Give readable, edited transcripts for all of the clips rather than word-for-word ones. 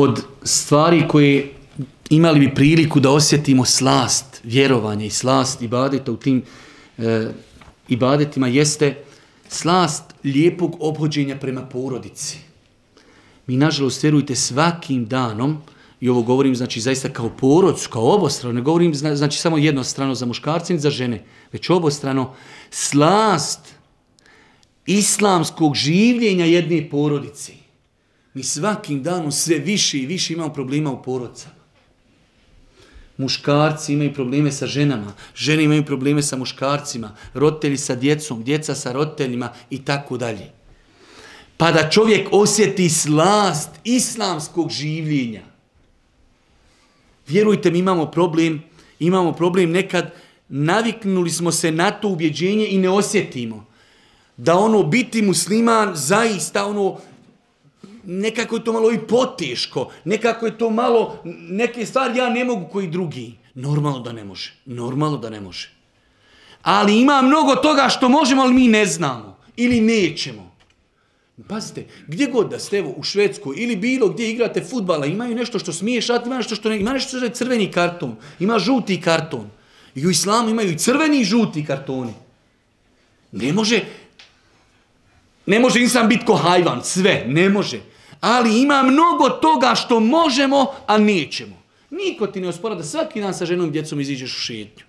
od stvari koje imali bi priliku da osjetimo slast vjerovanja i slast ibadeta u tim ibadetima jeste slast lijepog ophođenja prema porodici. Mi, nažalost, vjerujte, svakim danom, i ovo govorim znači zaista kao porodcu, kao obostrano, ne govorim znači samo jednostrano za muškarce i za žene, već obostrano, slast islamskog življenja jedne porodice. Mi svakim danom sve više i više imamo problema u porodicama. Muškarci imaju probleme sa ženama, žene imaju probleme sa muškarcima, roditelji sa djecom, djeca sa roditeljima i tako dalje. Pa da čovjek osjeti slast islamskog življenja. Vjerujte mi, imamo problem nekad, naviknuli smo se na to ubjeđenje i ne osjetimo. Da biti musliman zaista nekako je to malo i poteško, nekako je to malo, neke stvari ja ne mogu koji drugi. Normalno da ne može. Ali ima mnogo toga što možemo, ali mi ne znamo ili nećemo. Pazite, gdje god da ste u Švedskoj ili bilo gdje igrate fudbala, imaju nešto što smiješ, ima nešto što ne, ima nešto što je crveni karton, ima žuti karton. I u islamu imaju i crveni i žuti kartoni. Ne može insan biti ko hajvan, sve, ne može. Ali ima mnogo toga što možemo, a nećemo. Niko ti ne ospora da svaki dan sa ženom i djecom iziđeš u šetnju.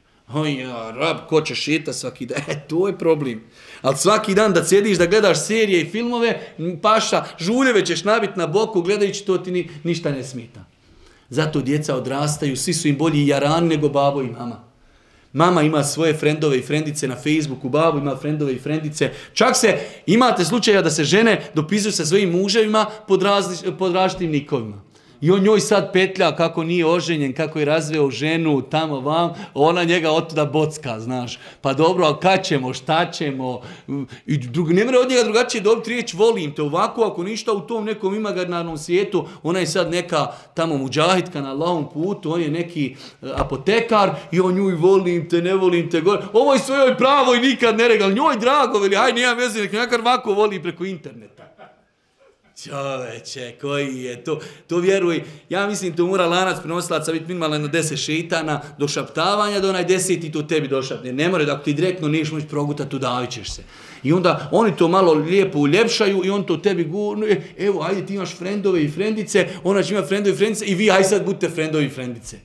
Rab, ko će šeta svaki dan? To je problem. Ali svaki dan da sjediš, da gledaš serije i filmove, paša, žuljeve ćeš nabiti na boku, gledajući to ti ništa ne smeta. Zato djeca odrastaju, svi su im bolji jaran nego babo i mama. Mama ima svoje frendove i frendice na Facebooku, babo ima frendove i frendice. Čak imate slučaja da se žene dopisuju sa svojim muževima pod različitim nikovima. I on njoj sad petlja kako nije oženjen, kako je razveo ženu tamo vam, ona njega otuda bocka, znaš. Pa dobro, ali kad ćemo, šta ćemo? I ne mora od njega drugačije dobiti riječ volim te. Ovako, ako ništa u tom nekom imaginarnom svijetu, ona je sad neka tamo muđahitka na Allahovom putu, on je neki apotekar i on nju volim te, ne volim te. Ovo je svojoj pravo i nikad ne regal. Njoj drago, veli, aj nijam veze, nek nekar ovako voli preko interneta. Čoveče, koji je to? To vjeruj, ja mislim to mora lanac prenosilaca biti minimalno na 10 šeitana do šaptavanja, do onaj 10 to tebi došapne. Ne more da ako ti direktno neš moći progutati, udavit ćeš se. I onda oni to malo lijepo uljepšaju i on to tebi gurnu. Evo, ajde ti imaš frendove i frendice, ona će ima frendove i frendice i vi aj sad budite frendovi i frendice.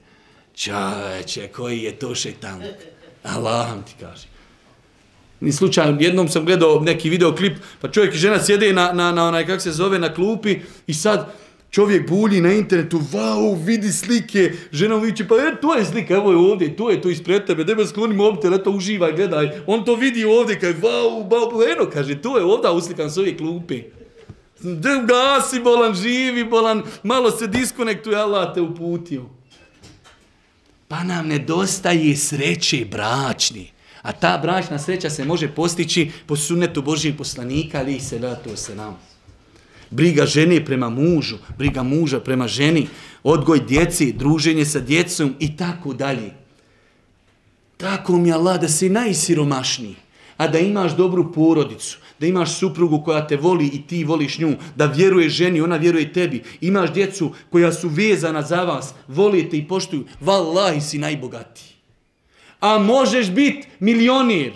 Čoveče, koji je to šeitan? Allahom ti kaže. Ni slučajno, jednom sam gledao neki videoklip, pa čovjek i žena sjede na onaj, kako se zove, na klupi i sad čovjek bulji na internetu, vau, vidi slike, žena mu viče, pa to je slika, evo je ovdje, to je to ispred tebe, debel skloni mobitel, eto uživaj, gledaj, on to vidi ovdje, kaže, vau, eno, kaže, to je ovdje uslikan s ove klupe. Gasi bolan, živi bolan, malo se diskonektuje, Allah te uputio. Pa nam nedostaje sreće bračni. A ta bračna sreća se može postići po sunnetu Božijeg poslanika, ali se da to se nam. Briga žene prema mužu, briga muža prema ženi, odgoj djeci, druženje sa djecom i tako dalje. Tako mi Allah da si najsiromašniji, a da imaš dobru porodicu, da imaš suprugu koja te voli i ti voliš nju, da vjeruje ženi, ona vjeruje tebi, imaš djecu koja su vezana za vas, volite i poštuju, vallahi si najbogatiji. A možeš biti milionir.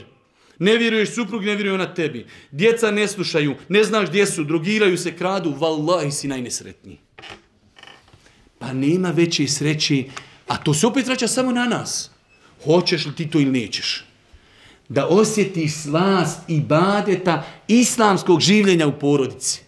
Ne vjeruješ suprug, ne vjeruje ona tebi. Djeca ne slušaju, ne znaš gdje su, drogiraju se, kradu, vallahi si najnesretniji. Pa nema veće sreće, a to se opet vraća samo na nas. Hoćeš li ti to ili nećeš? Da osjetiš slast ibadeta islamskog življenja u porodici.